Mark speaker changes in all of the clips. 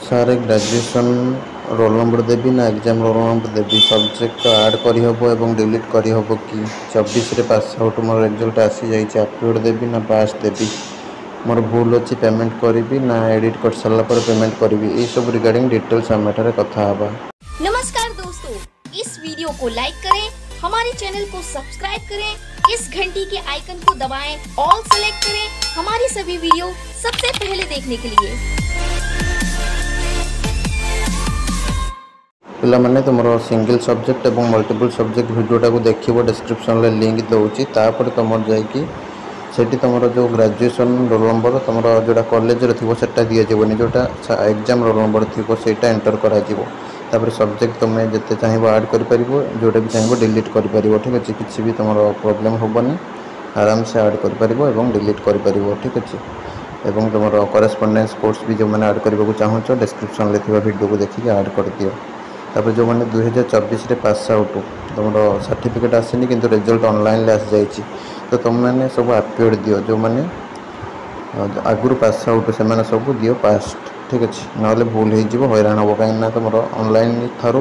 Speaker 1: Sir, graduation roll number ଦେବି ନା exam roll number ଦେବି? ସବଜେକ୍ଟ ଆଡ଼୍ କରିହେବ ଏବଂ ଡିଲିଟ୍ କରିହେବ କି? 24ରେ ପାସ୍ ଆଉଟ୍, ମୋର ରେଜଲ୍ଟ ଆସିଯାଇଛି। ଆପିୟର୍ଡ଼ ଦେବି ନା ପାସ୍ ଦେବି? ମୋର ଭୁଲ ଅଛି, ପେମେଣ୍ଟ କରିବି ନା ଏଡ଼ିଟ୍ କରିସାରିଲା ପରେ ପେମେଣ୍ଟ କରିବି? ଏଇସବୁ ରିଗାର୍ଡ଼ିଂ ଡିଟେଲ୍ସ ଆମେ ଏଠାରେ କଥା ହେବା।
Speaker 2: नमस्कार दोस्तों, इस वीडियो को लाइक करें, हमारे चैनल को सब्सक्राइब करें, इस घंटी के आइकन को दबाएं, ऑल सेलेक्ट करें हमारी सभी वीडियो सबसे पहले देखने के लिए।
Speaker 1: ପିଲାମାନେ, ତୁମର ସିଙ୍ଗଲ୍ ସବଜେକ୍ଟ ଏବଂ ମଲ୍ଟିପୁଲ୍ ସବଜେକ୍ଟ ଭିଡ଼ିଓଟାକୁ ଦେଖିବ, ଡେସ୍କ୍ରିପସନ୍ରେ ଲିଙ୍କ୍ ଦେଉଛି। ତାପରେ ତୁମର ଯାଇକି ସେଠି ତୁମର ଯେଉଁ ଗ୍ରାଜୁଏସନ୍ ରୋଲ୍ ନମ୍ବର ତୁମର ଯେଉଁଟା କଲେଜରେ ଥିବ, ସେଟା ଦିଆଯିବନି। ଯେଉଁଟା ଏକ୍ଜାମ୍ ରୋଲ୍ ନମ୍ବର ଥିବ, ସେଇଟା ଏଣ୍ଟର କରାଯିବ। ତାପରେ ସବଜେକ୍ଟ ତୁମେ ଯେତେ ଚାହିଁବ ଆଡ଼୍ କରିପାରିବ, ଯେଉଁଟା ବି ଚାହିଁବ ଡିଲିଟ୍ କରିପାରିବ। ଠିକ୍ ଅଛି? କିଛି ବି ତୁମର ପ୍ରୋବ୍ଲେମ୍ ହେବନି। ଆରାମସେ ଆଡ଼୍ କରିପାରିବ ଏବଂ ଡିଲିଟ୍ କରିପାରିବ। ଠିକ୍ ଅଛି? ଏବଂ ତୁମର କରେସ୍ପଣ୍ଡେନ୍ସ କୋର୍ସ ବି ଯେଉଁମାନେ ଆଡ଼୍ କରିବାକୁ ଚାହୁଁଛ, ଡେସ୍କ୍ରିପସନ୍ରେ ଥିବା ଭିଡ଼ିଓକୁ ଦେଖିକି ଆଡ଼୍ କରିଦିଅ। ତାପରେ ଯେଉଁମାନେ 2024ରେ ପାସ୍ ଆଉଟ୍, ତୁମର ସାର୍ଟିଫିକେଟ୍ ଆସିନି କିନ୍ତୁ ରେଜଲ୍ଟ ଅନଲାଇନ୍ରେ ଆସିଯାଇଛି, ତ ତୁମେମାନେ ସବୁ ଆପିୟର୍ଡ଼ ଦିଅ। ଯେଉଁମାନେ ଆଗରୁ ପାସ୍ ଆଉଟ୍, ସେମାନେ ସବୁ ଦିଅ ପାସ୍ଡ। ଠିକ୍ ଅଛି? ନହେଲେ ଭୁଲ ହେଇଯିବ, ହଇରାଣ ହେବ। କାହିଁକିନା ତୁମର ଅନଲାଇନ୍ ଠାରୁ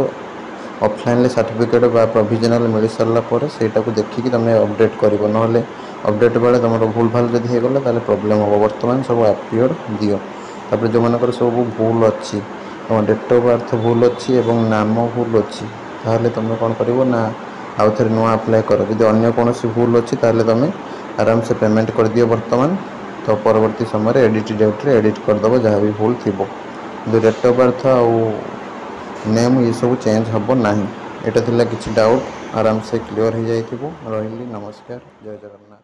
Speaker 1: ଅଫଲାଇନ୍ରେ ସାର୍ଟିଫିକେଟ୍ ବା ପ୍ରୋଭିଜନାଲ୍ ମିଳିସାରିଲା ପରେ ସେଇଟାକୁ ଦେଖିକି ତୁମେ ଅପଡ଼େଟ୍ କରିବ। ନହେଲେ ଅପଡ଼େଟ୍ ବେଳେ ତୁମର ଭୁଲ ଭାଲ ଯଦି ହେଇଗଲା, ତାହେଲେ ପ୍ରୋବ୍ଲେମ୍ ହେବ। ବର୍ତ୍ତମାନ ସବୁ ଆପିୟର୍ଡ଼ ଦିଅ। ତାପରେ ଯେଉଁମାନଙ୍କର ସବୁ ଭୁଲ ଅଛି, ତୁମ ଡେଟ୍ ଅଫ୍ ବାର୍ଥ ଭୁଲ ଅଛି ଏବଂ ନାମ ଭୁଲ ଅଛି, ତାହେଲେ ତୁମେ କ'ଣ କରିବ ନା ଆଉ ଥରେ ନୂଆ ଆପ୍ଲାଏ କର। ଯଦି ଅନ୍ୟ କୌଣସି ଭୁଲ ଅଛି, ତାହେଲେ ତୁମେ ଆରାମସେ ପେମେଣ୍ଟ କରିଦିଅ ବର୍ତ୍ତମାନ। ତ ପରବର୍ତ୍ତୀ ସମୟରେ ଏଡ଼ିଟ୍ ଡେଟ୍ରେ ଏଡ଼ିଟ୍ କରିଦେବ ଯାହା ବି ଭୁଲ ଥିବ। କିନ୍ତୁ ଡେଟ୍ ଅଫ୍ ବାର୍ଥ ଆଉ ନେମ୍ ଏସବୁ ଚେଞ୍ଜ ହେବ ନାହିଁ। ଏଇଟା ଥିଲା କିଛି ଡାଉଟ୍, ଆରାମସେ କ୍ଲିଅର୍ ହେଇଯାଇଥିବ। ରହିଲି, ନମସ୍କାର, ଜୟ ଜଗନ୍ନାଥ।